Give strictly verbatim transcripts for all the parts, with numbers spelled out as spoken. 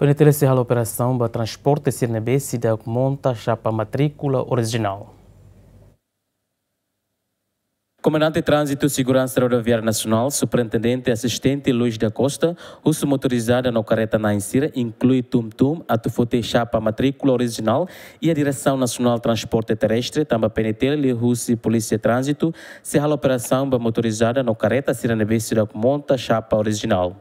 PNTL sei halo operasaun ba transporte sira ne'ebé seidauk monta xapa matríkula orijinál. Komandante Tránzitu Seguransa Rodoviária Nasionál, Superintendente Asistente Luis da Costa, husu motorizada no karreta na'in sira, inklui tum-tum, atu foti xapa matríkula orijinál iha Diresaun Nasionál Transporte Terrestre, tanba PNTL liuhusi Polísia Tránzitu sei halo operasaun ba motorizada no karreta sira ne'ebé seidauk monta xapa orijinál.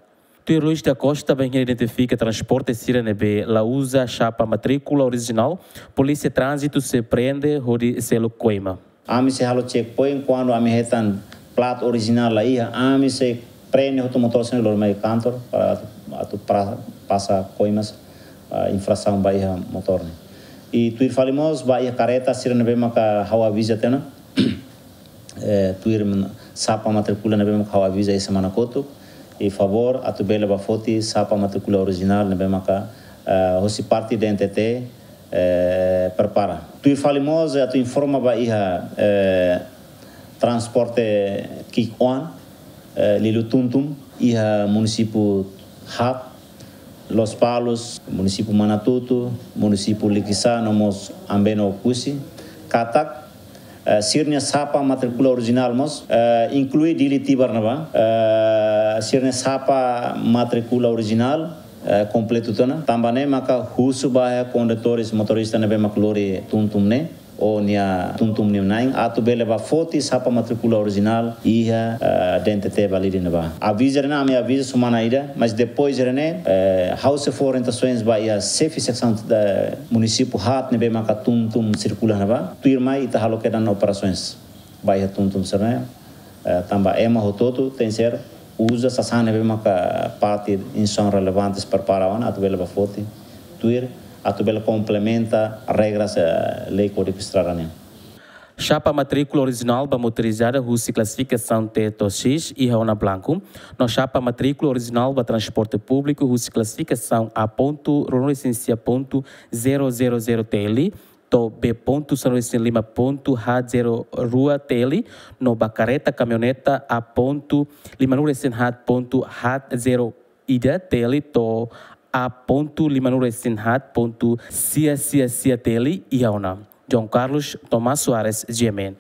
Tuir Luis da Costa, bainhira identifika transporte sira ne'ebé la uza xapa matríkula orijinál, Polísia Tránzitu sei prende hodi selu koima. Ami sei halo checkpoint kuandu ami hetan plat orijinál la iha, ami sei prende hotu motór sira-ne'e lori mai kantor para atu, atu pra-, pasa koimas, ah, infrasaun ba iha motór ne'e. I tuir fali mós ba iha karreta sira ne'ebé maka ha'u aviza tiha ona. Eh, tuir men-, xapa matríkula ne'ebé maka ha'u aviza iha semana kotuk. I favór atu bele bá foti xapa matríkula orijinál ne'ebé maka, eh, hosi parte DNTT, eh, prepara. Tuir fali mós, eh, atu informa ba iha, eh, transporte ki'ik-oan, eh, liuliu tum-tum, iha munisípiu haat, Lospalos, munisípiu Manatuto, munisípiu Likisá, no mós Ambeno Oekusi, katak, eh, sira-nia xapa matríkula orijinál mós, eh, inklui Dili Tibar ne'ebá, eh, sira-nia xapa matríkula orijinál, eh, kompletu tiha ona. Tanba ne'e maka husu ba iha kondutór, motorista ne'ebé mak lori tum-tum ne'e, ou nia tum-tum nia na'in, atu bele bá foti xapa matríkula orijinál iha, eh, DNTT Balide ne'ebá. Aviza ne'e ami aviza semana ida, mas depois ne'e, eh, ha'u sei fó orientasaun ba iha xefe seksaun, eh, munisípiu haat ne'ebé maka tum-tum sirkula ne'ebá. Tuirmai ita halo kedan operasaun ba iha tum-tum sira-ne'e, eh, tanba ema hotu-hotu tenkesér uza sasán ne'ebé maka parte instituisaun relevante prepara ona atu bele bá foti tuir, atu bele komplementa regras, eh, lei Kódigu Estrada nian. Xapa matríkula orijinál ba motorizada husi klasifikasaun T to'o X iha ona blanku, no xapa matríkula orijinál ba transporte públiku husi klasifikasaun A pontu ruanulu-resin-sia pontu zero zero zero TL, to'o B pontu sanulu-resin-lima pontu haat zero rua TL, no ba karreta kamioneta A pontu limanulu-resin-haat pontu haat zero ida TL, to'o A pontu limanulu-resin-haat pontu sia sia sia TL iha ona. João Carlos Tomás Soares, GMN.